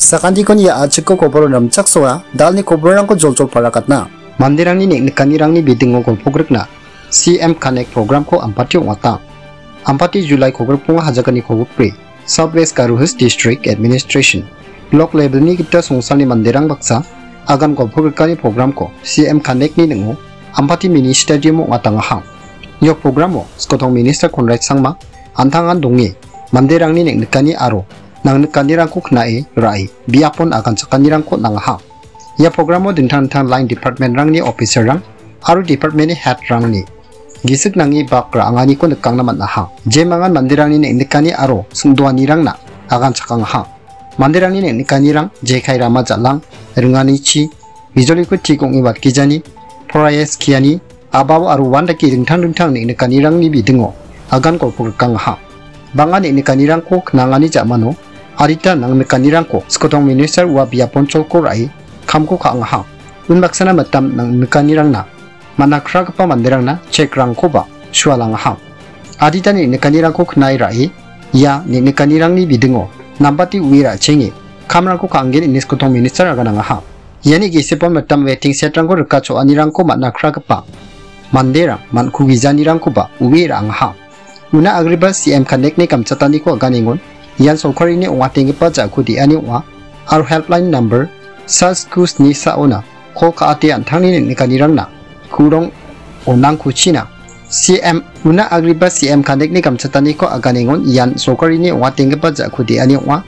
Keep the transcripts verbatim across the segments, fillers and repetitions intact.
Sakantikon ia a·chiko koboro namchaksoa, dalni koborrangko joljol parakatna. Manderangni neng·nikanirangni bidingo golpogrikna C M Connect programko Ampati ong·ata. Ampati July kogrikbonga hajaganni kogrikbri, South West Garo Hills District Administration, Block levelni gita songsalni manderang baksa agan golpogrikani programko C M Connectni ning·o Ampati Mini Stadiumo ong·atangaha. Ia programo Skotong Minister Conrad Sangma an·tangan donge manderangni neng·nikani aro nangnikanirangko knae ra·e biapon aganchakanirangko nangaha. Ia programo dingtang dingtang line departmentrangni officerrang aro departmentni headrangni gisik nange bak ra·anganiko nikangna man·aha. Jemangan manderangni neng·nikani aro singdoanirangna aganchakangaha. Manderangni neng·nikanirang jekai rama jal·ang, ringanichi, bijoliko tik ong·e watgijani, poraiskiani, a·bao aro uandake dingtang dingtang neng·nikanirangni bidingo agan golpo rikangaha. Bang·a neng·nikanirangko knangani ja·mano adita nang·nikanirangko Skotong Minister ua biapon cholko ra·e kamko ka·angaha. Unbaksana mitam nang·nikanirangna man·akragipa manderangna chekrangkoba sualangaha. Adita neng·nikanirangko knae ra·e, ia neng·nikanirangni bidingo nambate ue ra·chenge kamrangko ka·angen ine Skotong Minister aganangaha. Iani gisepon mitam waiting shed-rangko rikachoanirangko man·akragipa manderang man·kugijanirangkoba ue ra·angaha. Una agreba C M Connect-ni gamchataniko aganengon, ian sorkarini ong·atenggipa ja·ko de·ani ong·a, aro helpline number sa sku sni sa-ona kol ka·ate an·tangni neng·nikanirangna kurong onangkuchina. C M, una agreba C M Connect-ni gamchataniko aganengon, ian sorkarini ong·atenggipa ja·ko de·ani ong·a,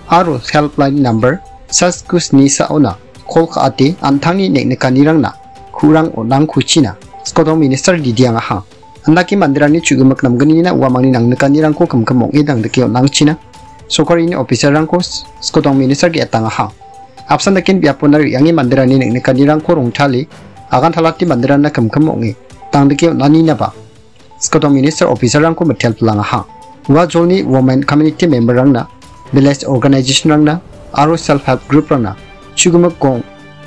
aro helpline number sa sku sni sa-ona kol ka·ate an·tangni neng·nikanirangna kurang onangkuchina. Skotong Minister didiangaha. Andake manderangni chu·gimik namgnina uamangni nangnikanirangko kimkim ong·e dangdike on·angchina. Sorkarini officer-rangko s-, Skotong Minister ge·etangaha. Apsan daken biapona re·ange manderangni neng·nikanirangko rongtale, agantalate manderangna kimkim ong·e dangdike on·aninaba Skotong Minister officer-rangko mitel pilangaha. Ua jolni women community member-rangna, village organization-rangna aro self help group-rangna chu·gimik gong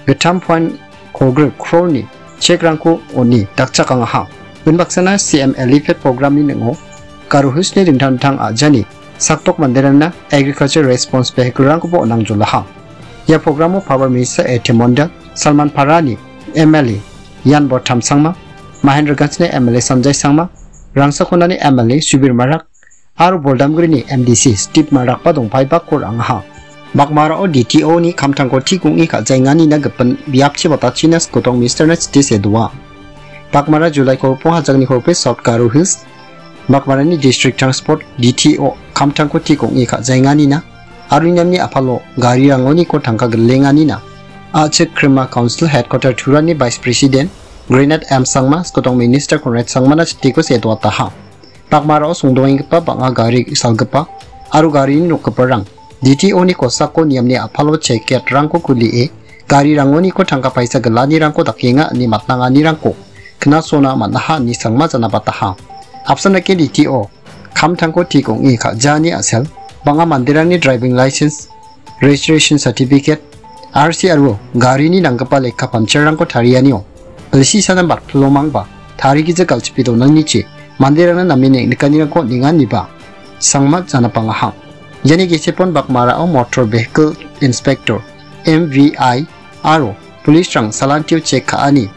gittam point kolgrik crore-ni chekrangko on·e dakchakangaha. Unbaksana C M Helipad program-ni ning·o Garo Hills-ni dingtang dingtang a·jani sakdok manderangna agriculture response vehicle-rangkoba on·angjolaha. Ia programo Power Minister A T Mondal, Salman Parani M L A Yan Botham Sangma, Mahendra Ganjni M L A Sanjay Sangma, Rangsakonani M L A Subir Marak, aro Boldamgrini M D C Steve Marakba dongpaibako ra·angaha. Bakmarao D T O-ni kamtangko tik ong·e ka·jaenganina gipin biapchi watachina Skotong Minister-na sitee see doa. Bakmara July kolpo hajangni kolpe South Garo Hills, Bakmarani District Transport D T O kamtangko tik ong·e ka·jaenganina aro niamni a·palo garirangoniko tangka gilenganina A·chik Krima Council Headquarter Turani Vice President Grenad M Sangma, Skotong Minister Conrad Sangmana siteko see doataha. Bakmarao songdoenggipa bang·a gari salgipa aro garini nokgiparang D T O-ni kosako niamni a·palo cheket-rangko kulie, garirangoniko tangka paisa gilanirangko dakenga ine matnanganirangko knasona man·aha ine Sangma janabataha. Apsan dake D T O kamtangko tik ong·e ka·jaani a·sel, bang·a manderangni driving license, registration certificate, R C aro garini nanggipa lekka puncture-rangko tarianio bilsi sana batpilomangba tarigija galchipe donangnichi manderangna namen neng·nikanirangko on·enga ineba Sangma janapangaha. Iani gisepon Bakmarao Motor Vehicle Inspector, M V I, aro police-rang salantio chek ka·ani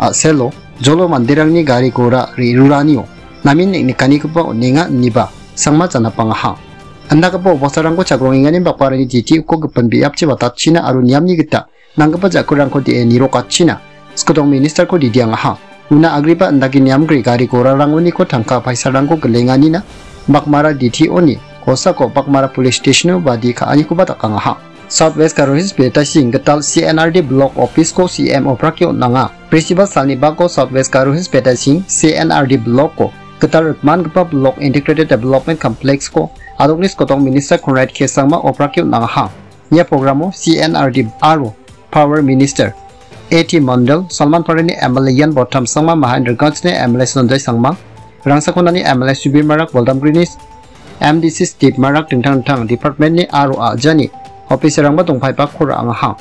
a·selo jolo manderangni gari gora re·ruranio namen neng·nikanikoba on·enga ineba Sangma janapangaha. Andagipa obosarangko chagrongengani Bakmarani D T O-ko gipin biapchi watatchina aro niamni gita nanggipa ja·kurangko de·e nirokatchina Skotong Minister-ko didiangaha. Una agreba indake niamgri gari gorarangoniko tangka paisarangko gilenganina Bakmara D T O-ni kosako Bakmara Police Station-o badi ka·anikoba dakangaha. South West Garo Hills Beletasing gital C N R D Block Office-ko C M oprake on·anga. Festival salni bako South West Garo Hills Beletasing C N R D Block-ko gital rikmangipa Block Integrated Development Complex-ko adokni Skotong Minister Conrad K Sangma oprake on·angaha. Ia programo C N R D aro Power Minister A T Mondal, Salman Parani M L A Yan Botham Sangma, Mahendra Ganjni M L A Sanjay Sangma, Rangsakonani M L A Subir Marak, Boldamgrini M D C Steve Marak, dingtang dingtang department-ni aro a·jani officer-rangba dongpaibako ra·angaha.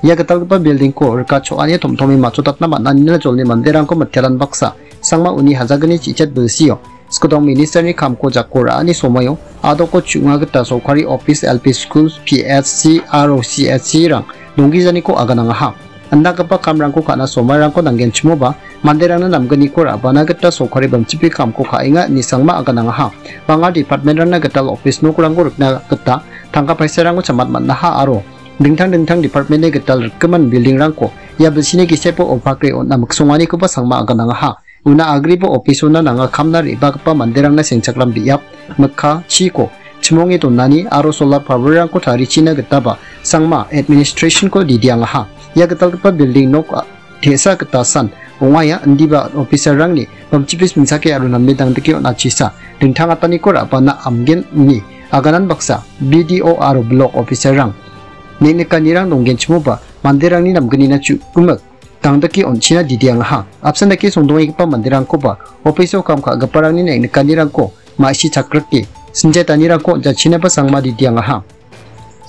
Ia gitalgipa building-ko rikachoani tom·tome matchotatna man·anina jolni manderangko mitelan baksa Sangma uni hajagni chichet bilsio Skotong ministerni kamko jako ra·ani somoio adoko chu·nga gita sorkari opis, L P skul, P H C aro C H C rang donggijaniko aganangaha. Indakgipa kamrangko ka·na somairangko nanggenchimoba, manderangna namgniko ra·bana gita sorkari bimchipi kamko ka·enga ine sangma aganangaha. Bang·a departmentrangna gital opis nokrangko rikna gita tangka paisarangko chamat man·aha aro dingtang dingtang departmentni gital rikgimin buildingrangko ia bilsini gisepo opakre on·a miksonganikoba sangma aganangaha. Una agreba opisona nanga kamna re·bagipa manderangna sengchakram biap, mikka, chiko chimonge donani aro solar powerrangko tarichina gitaba sangma administrationko didiangaha. Ia gitalgipa building nok, a, te·sa gita san ong·aia, indiba officerrangni bimchipis mingsake aro name dangdike on·achisa dingtangataniko ra·bana amgen ine aganan baksa B D O aro block officerrang neng·nikanirang donggenchimoba manderangni namgnina chu·gimik dangdike on·china didiangaha. Apsan dake songdongegipa manderangkoba opiso kam ka·giparangni neng·nikanirangko ma·sichakrike sinjetanirangko on·jachinaba sangma didiangaha.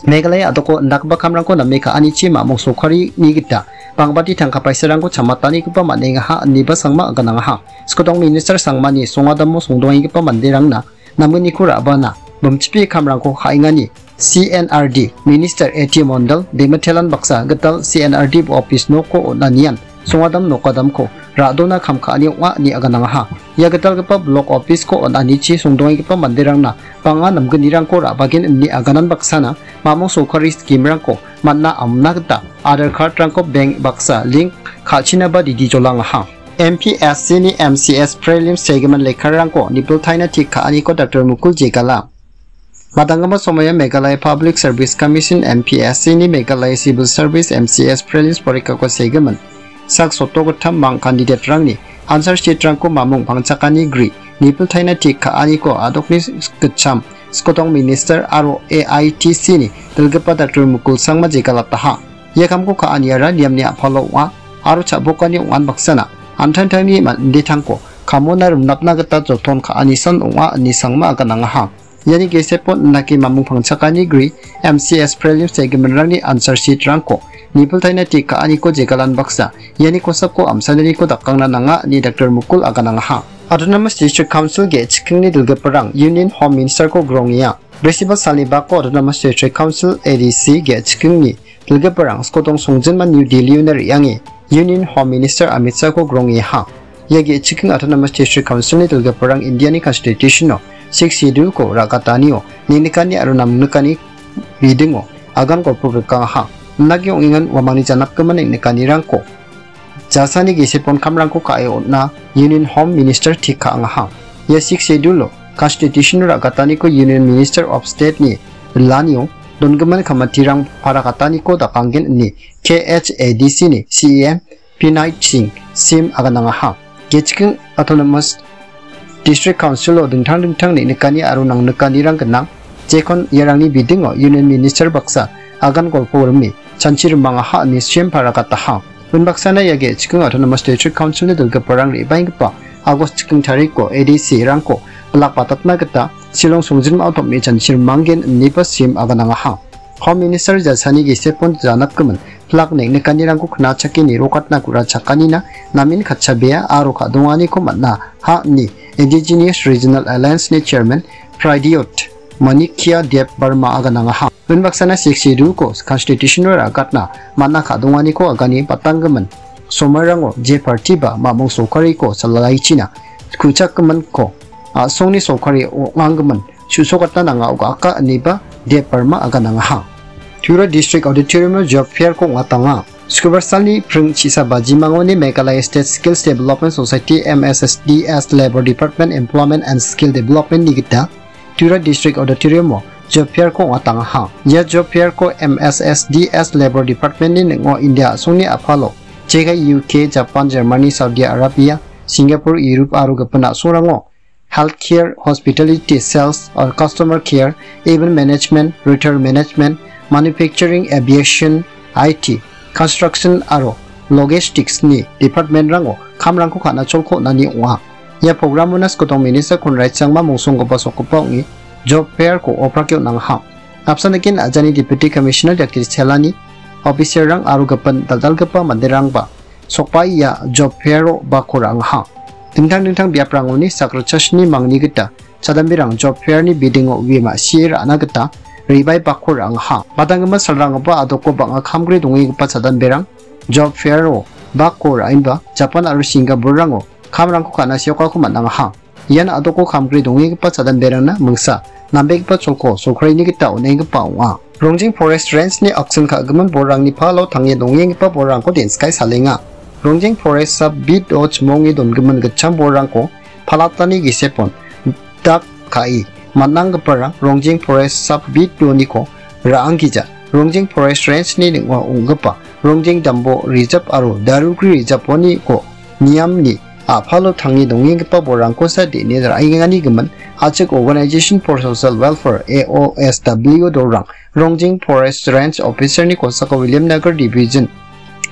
Meghalaya a·doko indakgipa kamrangko name ka·anichi mamung sorkarini gita bangbati tangka paisarangko chamatanikoba man·engaha ineba sangma aganangaha. Skotong minister sangmani songadamo songdongegipa manderangna namgniko ra·bana bimchipi kamrangko ka·engani C N R D minister A T Mondal, Demitelan baksa gital C N R D office noko on·anian songadam nokadamko ra·dona kam ka·ani ong·a ine aganangaha. Ia gitalgipa block office-ko on·anichi songdongegipa manderangna bang·a namgnirangko ra·bagen ine aganan baksana mamung sorkari scheme-rangko man·a amna gita Aadhaar card-rangko bank baksa link ka·chinaba didi jolangaha. M P S C-ni M C S prelims segimin lekkarangko nipiltaina tik ka·aniko Doctor Mukul jegala. Madanggipa somoio Meghalaya Public Service Commission, M P S C-ni Meghalaya Civil Service, M C S prelims porikako segimin sak soto gittam mang candidate-rangni answer sheet-rangko mamung pangchakani gri nipiltaina tik ka·aniko a·dokni gitcham skotong minister aro A I T C-ni dilgipa Doctor Mukul Sangma jegalataha. Ia kamko ka·aniara niamni a·palo ong·a aro cha·bokani ong·an baksana an·tangtangni mandetangko kamona rimnapna gita joton ka·anisan ong·a ine sangma aganangaha. Iani gesepo indake mamung pangchakani gri M C S prelims segiminrangni answer sheet-rangko nipiltaina tik ka·aniko jegalan baksa iani kosako amsaniriko dakangna nanga ine Doctor Mukul aganangaha. Autonomous District Council ge·chikingni dilgiparang Union Home Minister-ko grongenga. Brisiba salni bako Autonomous District Council, A D C, ge·chikingni dilgiparang skotong songjinma New Delhi-ona re·ange Union Home Minister Amit Shah-ko grongengaha. Ia ge·chiking Autonomous District Council-ni dilgiparang India-ni Constitution-o Sixth Schedule-ko ra·gatanio neng·nikani aro namnikani bidingo agan golpo rikangaha. Indake ong·engan uamangni janapgimin neng·nikanirangko jasani gisepon kamrangko ka·e on·na Union Home Minister tik ka·angaha. Ia Sixth Schedule-o Constitution-o ra·gataniko Union Minister of State-ni bilanio dongimin kamatirang parakataniko dakanggen ine K H A D C-ni C E M Binoy Singh sim aganangaha. Ge·chiking Autonomous District Council-o dingtang dingtang neng·nikani aro nangnikanirang gnang. Jekon iarangni bidingo Union Minister baksa agan golpo rime chanchi rimangaha ine sim parakataha. Unbaksana ia ge·chiking Autonomous District Council-ni dilgiparang re·baenggipa August chiking tariko A D C-rangko bilak batatna gita Shillong songjinmao tom·e chanchi rimanggen ineba sim aganangaha. Home Minister jasani gisepon janapgimin plak neng·nikanirangko knachake nirokatna gura chakanina namen katchabea aro ka·donganiko man·a ha ine Indigenous Regional Alliance-ni Chairman Pradyot Manikya Deb Barma aganangaha. Unbaksana Sixth Schedule-ko Constitution-o ra·gatna man·a ka·donganiko agane batanggimin somairango je party ba mamung sorkariko salaichina ku·chakgiminko a·songni sorkari ong·anggimin chu·sokatna nanga oga aka ineba Deb Barma aganangaha. Tura District Auditorium-o job fair-ko ong·atanga. Sukubar salni pring chisa bajimangoni Meghalaya State Skills Development Society, M S S D S, Labour Department, Employment and Skill Development-ni gita Tura District Auditorium-o job fair-ko ong·atangaha. Ia job fair-ko M S S D S Labour Department-ni ning·o India a·songni a·palo jekai U K, Japan, Germany, Saudi Arabia, Singapore, Europe aro gipin a·songrango healthcare, hospitality, sales or customer care, event management, retail management, manufacturing, aviation, I T, construction aro logistics-ni department-rango kamrangko ka·na cholko on·ani ong·a. Ia program-ona skotong minister Conrad Sangma mongsonggipa sokgipa ong·e job fair-ko oprake on·angaha. Apsan dake ajani Deputy Commissioner Jagdish Chelani, officer-rang aro gipin dal·dalgipa manderangba sokba ia job fair-o bako ra·angaha. Dingtang dingtang biaprangoni sakritchasni mangni gita chadamberang job fair-ni bidingo uie ma·sie ra·na gita ribai bakko ra·angaha. Madanggipa salrangoba adoko bang·a kamgre dongenggipa chadamberang job fair-o bakko ra·enba Japan aro Singapore-rango kamrangko ka·na seokako man·angaha. Ian adoko kamgre dongenggipa chadamberangna mingsa nambegipa cholko sorkarini gita on·enggipa ong·a. Rongjeng Forest Range-ni action ka·gimin bolrangni palo tange dongenggipa bolrangko den·skai salenga. Rongjeng Forest Sub Beat-o chimonge dongimin gitcham bolrangko palatani gisepon dak ka·e man·anggiparang Rongjeng Forest Sub Beat-oniko ra·anggija. Rongjeng Forest Range-ni ning·o ong·gipa Rongjeng Dambo Reserve aro Darugri Reserve-oniko niamni a·palo tange dongenggipa bolrangkosa den·e ra·enganigimin, A C H I K Organisation for Social Welfare, A O S W dolrang Rongjeng Forest Range Officer-ni kosako Williamnagar Division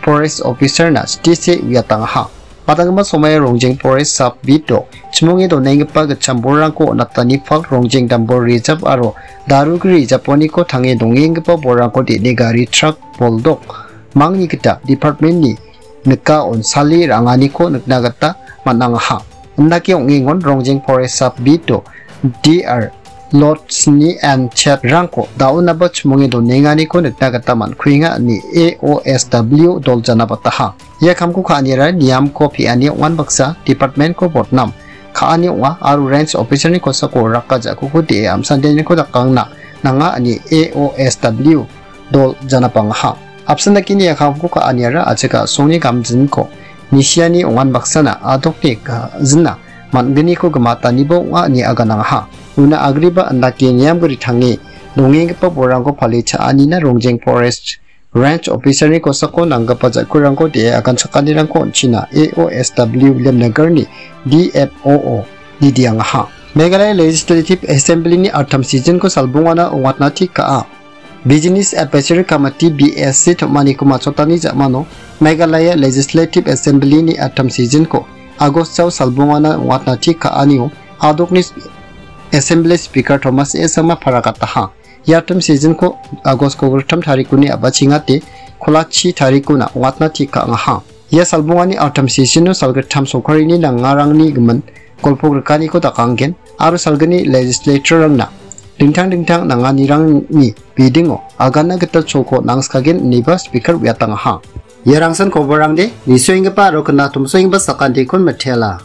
Forest Officer-na sitise uiatangaha. Padanggipa somoio Rongjeng Forest Sub Beat-o chimonge donenggipa gitcham bolrangko on·atani pal Rongjeng Dambor Reserve aro Darugri Reserve-oniko tange dongenggipa bolrangko den·e gari truck boldok mangni gita department-ni nika onsale ra·anganiko nikna gita man·angaha. Indake ong·engon Rongjeng Forest Sub Beat-o D R Lot sni and chat-rangko da·onaba chimonge donenganiko nikna gita man·kuenga ine A O S W dol janabataha. Ia kamko ka·aniran niamko pe·ani ong·an baksa department-ko botnam ka·ani ong·a aro range officer-ni kosako raka ja·kuko de·e amsandeniko dakangna nanga ine A O S W dol janapangaha. Apsan dakeni ia kamko ka·aniara a·chik a·songni gamjinko nisiani ong·an baksana a·dokni ka-, jinna man·gniko gimataniba ong·a ine aganangaha. Una agreba indake niamgri tange dongenggipa bolrangko pale cha·anina Rongjeng Forest Range Officer-ni kosako nanggipa ja·kurangko de·e aganchakanirangko on·china A O S W Williamnagar-ni D F O O didiangaha. Meghalaya Legislative Assembly-ni artam season-ko salbongana ong·atna tik ka·a. Business Advisory Committee, B S C, tom·aniko machotani ja·mano Meghalaya Legislative Assembly-ni artam season-ko August-o salbongana ong·atna tik ka·anio adokni Assembly Speaker Thomas A Sangma paragataha. Ia artam season-ko August-ko gittam tarikoni a·bachengate kolachi tarikona ong·atna tik ka·angaha. Ia salbongani artam season-o salgittam sorkarini nangarangni gimin golpo grikaniko dakanggen aro salgni legislator-rangna dingtang dingtang nanganirangni bidingo agana gita cholko nangskagen ineba Speaker uiatangaha. Ia rangsan koborangde nisoenggipa aro knatomsoenggipa sakantikon mitela.